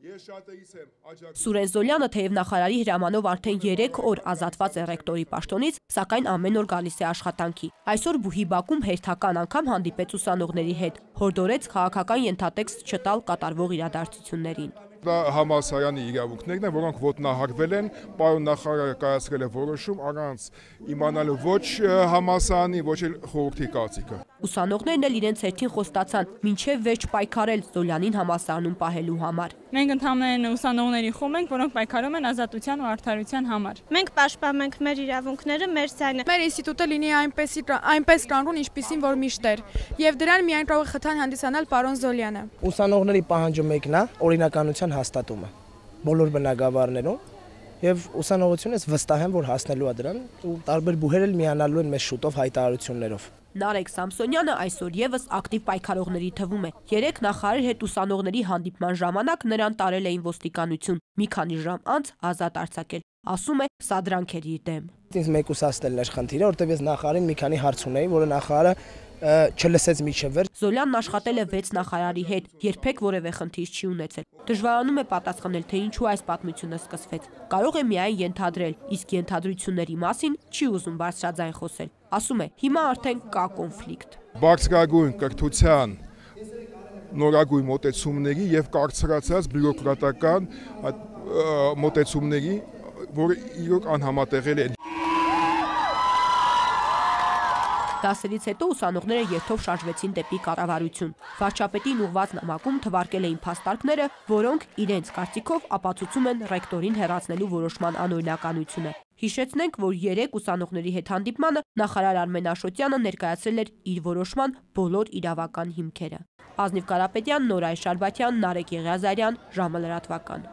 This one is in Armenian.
Սուրեն Զոլյանը թեև նախարարի հրամանով արդեն 3 օր ազատված է ռեկտորի պաշտոնից, սակայն ամեն օր գալիս է աշխատանքի։ Այսօր Բուհի բակում հերթական անգամ հանդիպեց ուսանողների հետ, հորդորեց քաղաքական ենթատեքստ չտալ կատարվող իրադարձություններին։ Դա համալսարանի իրավունքներն են, որոնք ոտնահարվել են, պարոն նախարարը կայացրել է որոշում առանց իմանալու ոչ համալսարանի, ոչ էլ խորհրդի կարծիքը։ Ուսանողներն էլ իրենց հերթին խոստացան մինչև վերջ պայքարել Զոլյանին համալսարանում պահելու համար։ Մենք ընդհանրապես ուսանողների խումբ ենք, որոնք պայքարում են ազատության ու արդարության համար։ Մենք պաշտպանում ենք մեր իրավունքները, մեր ձայնը։ Մեր ինստիտուտը լինի այնպես կանգուն, ինչպիսին որ միշտ էր, եւ դրան միայն կարող է խթան հանդիսանալ պարոն Զոլյանը։ Ուսանողների պահանջը մեկն է, օրինականության հաստատումը բոլոր բնակավարներում եւ ուսանողությունից վստահ եմ, որ հասնելու է դրան ու տարբեր բուհեր էլ միանալու են մեզ շուտով հայտարարություններով։ Նարեկ Սամսոնյանը այսօր եւս ակտիվ պայքարողների թվում է։ Երեք նախարարի հետ ուսանողների հանդիպման ժամանակ նրան տարել էին ոստիկանություն, մի քանի ժամ անց ազատ արձակել։ Ասում է, սա դրանք էր իր դեմ։ Ինձ մեկուսացնելն էր խնդիրը, որտեղ ես նախարարին մի քանի հարց ունեի, որը նախարարը չլսեց միջև վերջ։ Զոլյանն աշխատել է 6 նախարարի հետ, երբեք որևէ խնդիր չի ունեցել։ Դժվարանում է պատասխանել, թե ինչու այս պատմությունը սկսվեց։ Կարող է միայն ենթադրել, իսկ ենթադրությունների մասին չի ուզում բարձրաձայն խոսել։ Ասում է, հիմա արդեն կա կոնֆլիկտ։ Բարձրագույն կրթության նորագույն մոտեցումների եւ կարծրացած բյուրոկրատական մոտեցումների, որը իրոք անհամատեղել է։ Դասերից հետո ուսանողները երթով շարժվեցին դեպի կառավարություն։ Վարչապետին ուղղված նամակում թվարկել էին փաստարկները, որոնք իրենց կարծիքով ապացուցում են ռեկտորին հեռացնելու որոշման անօրինականությունը։ Հիշեցնենք, որ 3 ուսանողների հետ հանդիպմանը նախարար Արմեն Աշոտյանը ներկայացրել էր իր որոշման բոլոր իրավական հիմքերը։ Ազնիվ Կարապետյան, Նորայր Շարբաթյան, Նարեկ Եղիազարյան, ժամը լրատվական։